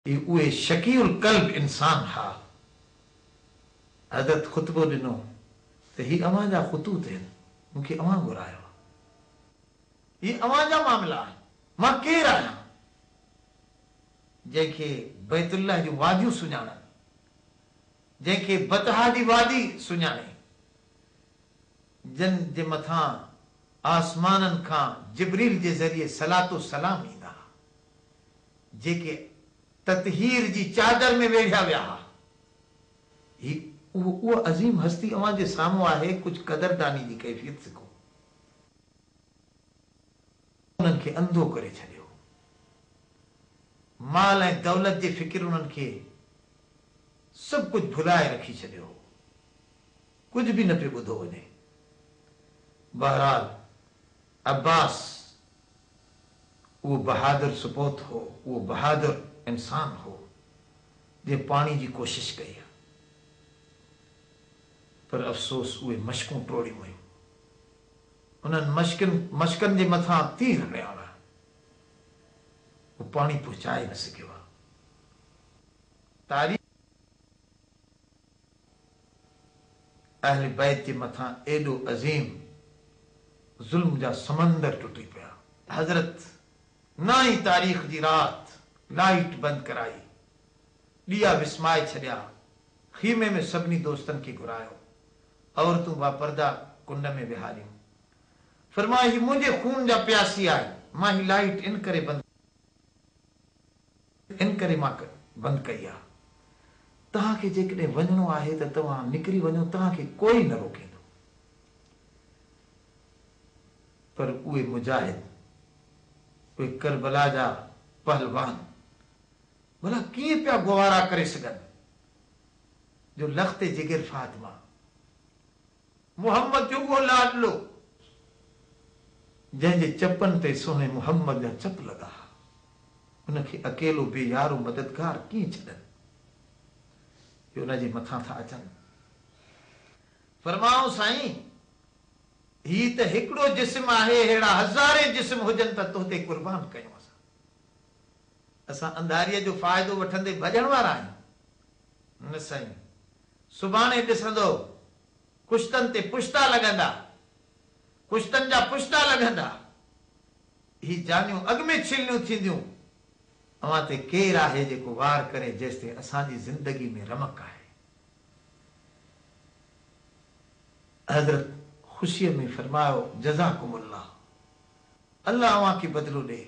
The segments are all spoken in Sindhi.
هي اهي شقي القلب انسان ها. حضرت خطبو ڏنو ته هي اوهان جا خطوط هن، مون کي اوهان گهرايو آهي. هي اوهان جا معاملا آهن، مان ڪير آهيان جنهن کي بيت الله جون واديون سڃاڻن، جنهن کي بطحا جي وادي سڃاڻي، جن جي مٿان آسمانن کان جبريل جي ذريعي صلوة و سلام ايندا ها. جيڪي تطهير جي چادر ۾ ويڙهيا ويا ها. هي اهو اها عظيم هستي اوهان جي سامهون آهي، ڪجهه قدرداني جي ڪيفيت سکو. انهن کي انڌو ڪري ڇڏيو. مال ۽ دولت جي فڪر انهن کي سڀ ڪجهه ڀلائي رکي ڇڏيو هو. ڪجهه به نه پيو ٻڌو وڃي. بهرحال عباس اهو بهادر سپوت هو، اهو بهادر انسان هو، جنهن پاڻي جي ڪوشش ڪئي. پر افسوس اهي مشڪون ٽوڙيون ويون. انهن مشڪن مشڪن جي مٿان تير هنيا ويا. هو پاڻي پهچائي نه سگهيو. تاريخ اهل بيت جي مٿان ايڏو عظيم ظلم جا سمندر ٽٽي پيا. حضرت نائين تاريخ جي رات لائيٽ بند ڪرائي، ڏيئا وسمائي ڇڏيا، خيمي ۾ سڀني دوستن کي گهرايو، عورتون باپرده ڪنڊ ۾ ويهاريون. فرمايو هي منهنجي خون جا پياسي آهن، مان هي لائيٽ ان ڪري بند ان ڪري مان بند ڪئي آ. توهان کي جيڪڏهن وڃڻو آهي ته توهان نڪري وڃو، توهان کي ڪوئي نه روڪيندو. پر اهي مجاهد، اهي ڪربلا جا پهلوان ڀلا ڪيئن پيا گوارا ڪري سگهن جو لخت جگر فاطمه، محمد جو اهو لاڏلو، جنهن جي چپن تي سهڻي محمد جا چپ لڳا ها، ان کي اڪيلو بي يار و مددگار ڪيئن ڇڏن؟ هي ان جي مٿان ٿا اچن. فرمايائون، سائين! هي ته هڪڙو جسم آهي، ههڙا هزارين جسم هجن ته تو تي قربان ڪيون اسان. اسان انڌاريء جو فائدو وٺندي ڀڄڻ وارا آهيون؟ نه سائين! سڀاڻي ڏسندؤ، ڪشتن تي پشتا لڳندا، ڪشتن جا پشتا لڳندا، هي جانيون اڳ ۾ ڇلنيون ٿينديون، اوهان تي ڪير آهي جيڪو وار ڪري جيستائين اسان جي زندگي ۾ رمق آهي. حضرت خوشيء ۾ فرمايو، جزاڪم الله، الله اوهان کي بدلو ڏئي.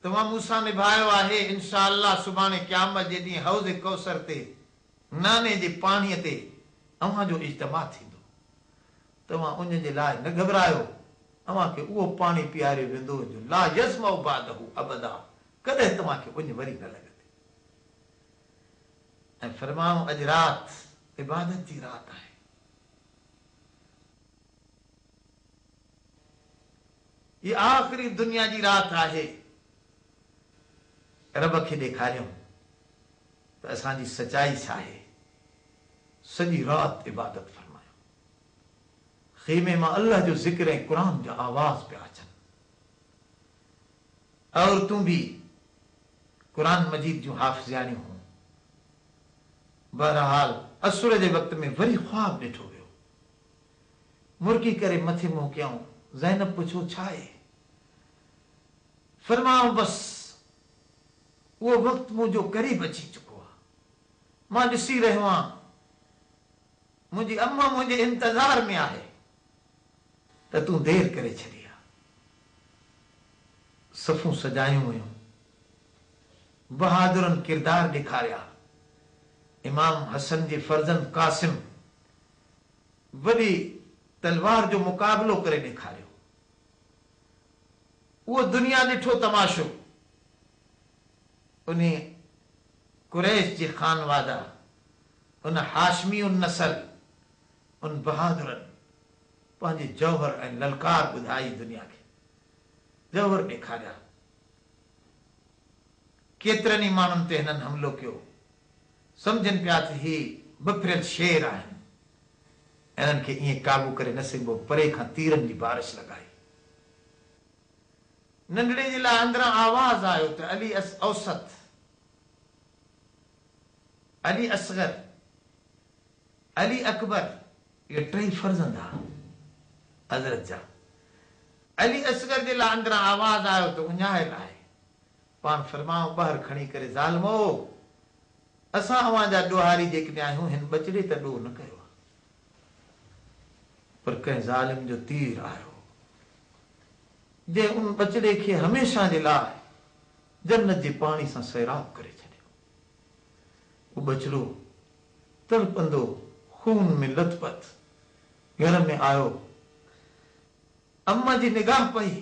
توهان مون سان نڀايو آهي، انشاء الله سڀاڻي قيامت جي ڏينهن حوض ڪوثر تي ناني جي پاڻيء تي اوهان جو اجتماع ٿيندو. توهان اڃ جي لاء نه گهٻرايو، اوهان کي اهو پاڻي پياريو ويندو جو لا يظمأ بعده ابدا ڪڏهن توهان کي اڃ وري نه لڳندي. ۽ فرمايو اڄ رات عبادت جي رات آهي. هي آخري دنيا جي رات آهي. رب کي ڏيکاريون ته اسان جي سچائي ڇا آهي. سڄي رات عبادت فرمايو. خيمي مان الله جو ذڪر ۽ قرآن جا آواز پيا اچن. عورتون به قرآن مجيد جون حافظياڻيون هيون. بهرحال عصر جي وقت ۾ وري خواب ڏٺو ويو. مرڪي ڪري مٿي منهن ڪيائون. زينب پڇيو، ڇا آهي؟ فرمايائون، بس اهو وقت منهنجو قريب اچي چڪو آهي. مان ڏسي رهيو آهيان، منهنجي امان منهنجي انتظار ۾ آهي ته تون دير ڪري ڇڏي آ. صفون سجايون ويون. بهادرن ڪردار ڏيکاريا. امام حسن جي فرزند قاسم وڏي تلوار جو مقابلو ڪري ڏيکاريو. اهو دنيا ڏٺو تماشو. انهي قريش جي خانواده، ان هاشمي النسل، ان بهادرن پنهنجي جوهر ۽ للڪار ٻڌائي دنيا کي جوهر ڏيکاريا. ڪيترن ئي ماڻهن تي هنن حملو ڪيو. سمجهن پيا ته هي بڦريل شير آهن. انهن کي ائين قابو ڪري نه سگهبو. پري کان تيرن جي بارش لڳائي. ننڍڙي جي لاء اندران آواز آيو ته علي عس اوسط. علي اصغر، علي اڪبر، اهي ٽئي فرزند ها حضرت جا. علي اصغر جي لاء اندران آواز آيو ته اڃايل آهي. پاڻ فرمايو ٻاهر کڻي ڪري ظالمو! اسان اوهان جا ڏوهاري جيڪڏهن آهيون هن ٻچڙي ته ڏوهه نه ڪيو آهي. پر ڪنهن ظالم جو تير آيو جنهن ان ٻچڙي کي هميشه جي لاء جنت جي پاڻي سان سيراب ڪري ڇڏيو. اهو ٻچڙو تڙپندو خون ۾ لت پت گهر ۾ آيو. اما جي نگاهه پئي،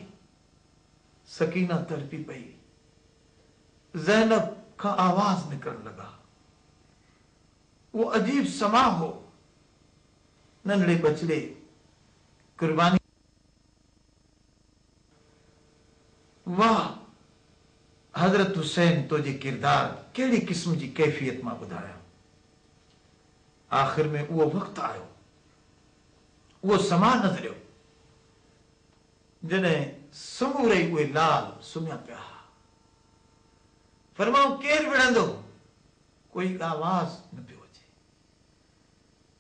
سڪينه تڙپي پئي. زينب کان آواز نڪرڻ لڳا. اهو عجيب سماع هو. ننڍڙي ٻچڙي قرباني. واهه حضرت حسين تنهنجي ڪردار ڪهڙي قسم جي ڪيفيت مان ٻڌايان. آخر ۾ اهو وقت آيو، اهو سماع نظريو، جڏهن سمورئي اهي لال سمهيا پيا ها. فرمائون ڪير وڙهندو؟ ڪوئي آواز نه پيو اچي.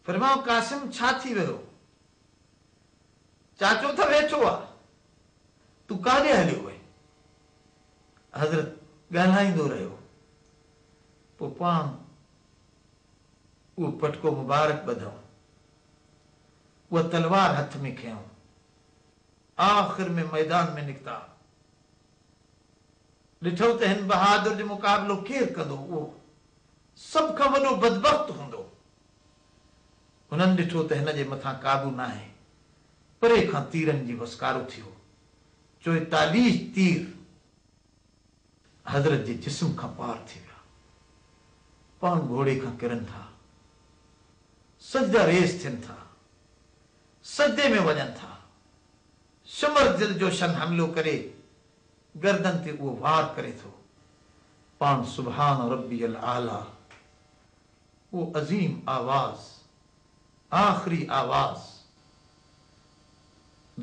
فرمائون قاسم ڇا ٿي ويو؟ چاچو ته ويٺو آ، تون ڪاڏي هليو وئين؟ حضرت ڳالهائيندو رهيو، پوء پاڻ اهو پٽڪو مبارڪ ٻڌائون، اها تلوار هٿ ۾ کنيائون، آخر ۾ ميدان ۾ نڪتا. ڏٺو ته هن بهادر جو مقابلو ڪير ڪندو، اهو سڀ کان وڏو بدبخت هوندو. هنن ڏٺو ته هن جي مٿان قابو ناهي. پري کان تيرن جي وسڪارو ٿيو. 44 تير حضرت جي جسم کان پار ٿي ويا. پاڻ گهوڙي کان ڪرن ٿا. سجده ريز ٿين ٿا. سجدي ۾ وڃن ٿا. شمر ذوالجوشن حملو ڪري گردن تي اهو وار ڪري ٿو. پاڻ سبحان ربي الاعليٰ اهو عظيم آواز، آخري آواز،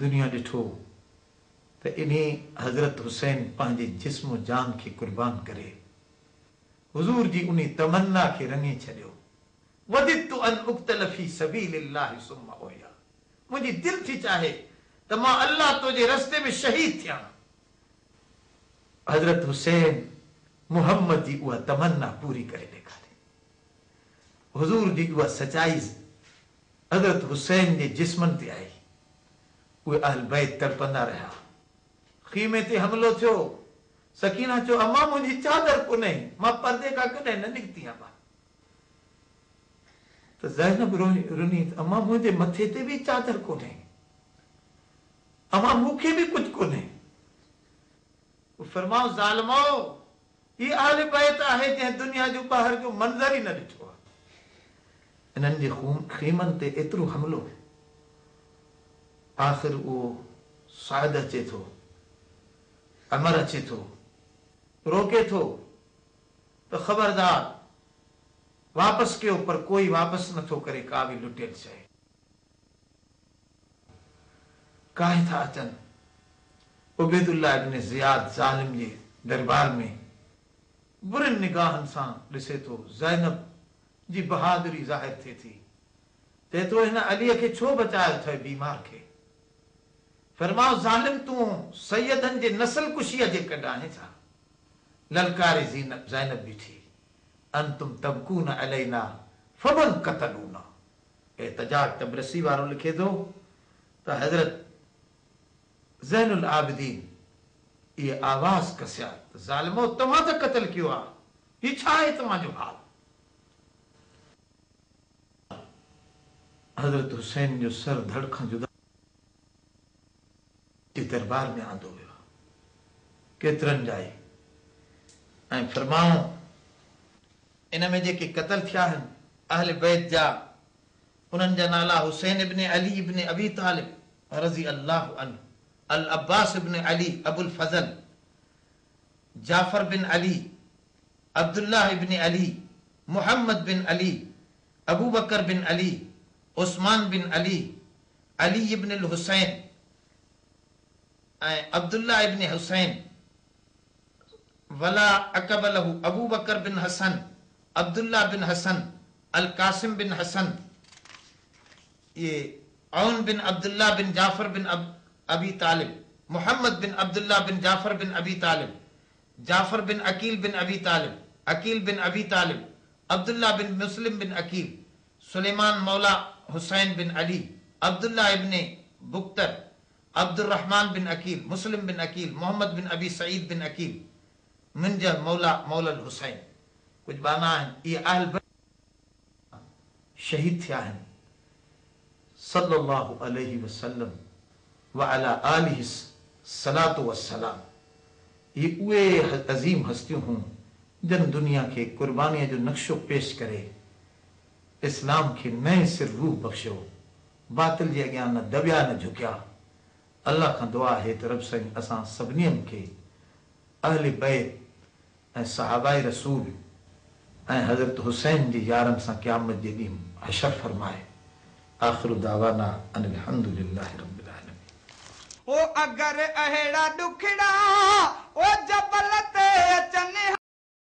دنيا ڏٺو ته انهي حضرت حسين پنهنجي جسم و جان کي قربان ڪري حضور جي انهي تمنا کي رڱي ڇڏيو، وددت ان اقتل في سبيل الله ثم احيا منهنجي دل ٿي چاهي ته مان الله تنهنجي رستي ۾ شهيد ٿيان. حضرت حسين محمد جي اها تمنا پوري ڪري ڏيکاري. حضور جي اها سچائي حضرت حسين جي جسمن تي آئي. اهي اهل بيت تڙپندا رهيا. خيمي تي حملو ٿيو. سڪينه چيو، امان منهنجي چادر ڪونهي، مان پردي کان ڪڏهن نه نڪتي آهيان. ته زينب رني ته امان منهنجي مٿي تي به چادر ڪونهي. امان مون کي به ڪجهه ڪونهي. فرماء ظالمؤ! هي اهل بيت آهي جنهن دنيا جو ٻاهر جو منظر ئي نه ڏٺو آهي. انهن جي خيمن تي ايترو حملو، آخر اهو سعد اچي ٿو، عمر اچي ٿو، روڪي ٿو ته خبردار واپس ڪيو پر ڪوئي واپس نه ٿو ڪري ڪا به لٽيل شيء. ڪاهي ٿا اچن. عبيدالله ابن زياد ظالم جي دربار ۾ برين نگاهن سان ڏسي ٿو. زينب جي بهادري ظاهر ٿئي ٿي. چئي ٿو هن عليء کي ڇو بچايو اٿئي بيمار کي؟ فرماء ظالم تون سيدن جي نسل ڪشيء جي ڪڍ آهين ڇا؟ للڪاري زينب بيٺي. انتم تبڪون علينا فمن قتلونا؟ احتجاج طبرسي وارو لکي ٿو ته حضرت زين العابدين اهي آواز ڪسيا ته ظالمو توهان ته قتل ڪيو آ هي ڇا آهي توهان جو حال؟ حضرت حسين جو سر ڌڙ کان جدا ٿي دربار ۾ آندو ويو آ ڪيترن جا ئي ۽ فرمائون ان ۾ جيڪي قتل ٿيا آهن اهل بيت جا انهن جا نالا حسين ابن علي ابن ابي طالب رضي الله عنه، العباس ابن علي ابو الفضل، جعفر بن علي، عبدالله ابن علي، محمد بن علي، ابوبڪر بن علي، عثمان بن علي، علي ابن الحسين ۽ عبدالله ابن حسين، ولا عقب له ابوبڪر بن حسن. Abdullah bin Hasan, Al Qasim bin Hasan, اهي عون بن عبدالله بن جعفر بن ابي طالب، محمد بن عبدالله بن جعفر بن ابي طالب، جعفر بن عقيل بن ابي طالب، عقيل بن ابي طالب، عبدالله بن مسلم بن عقيل، سليمان موليٰ حسين بن علي، عبدالله ابن بڪتر، عبدالرحمان بن عقيل، مسلم بن عقيل، محمد بن ابي سعيد بن عقيل، منجح موليٰ موليٰ الحسين. ڪجهه ٻانها آهن، اهي اهل بيت شهيد ٿيا آهن. صلّي الله عليه وسلّم وعلي آله الصلوة والسلام اهي اهي عظيم هستيون هيون جن دنيا کي قربانيء جو نقشو پيش ڪري اسلام کي نئين سر روح بخشيو، باطل جي اڳيان نه دٻيا نه جهڪيا. الله کان دعا آهي ته رب سائين اسان سڀنين کي اهل بيت ۽ صحابه رسول ۽ حضرت حسين جي يارن سان قيامت جي ڏينهن حشر فرمائي. آخر دعوانا ان الحمد لله رب العالمين. او اگر اهڙا ڏکڙا او جبل تي.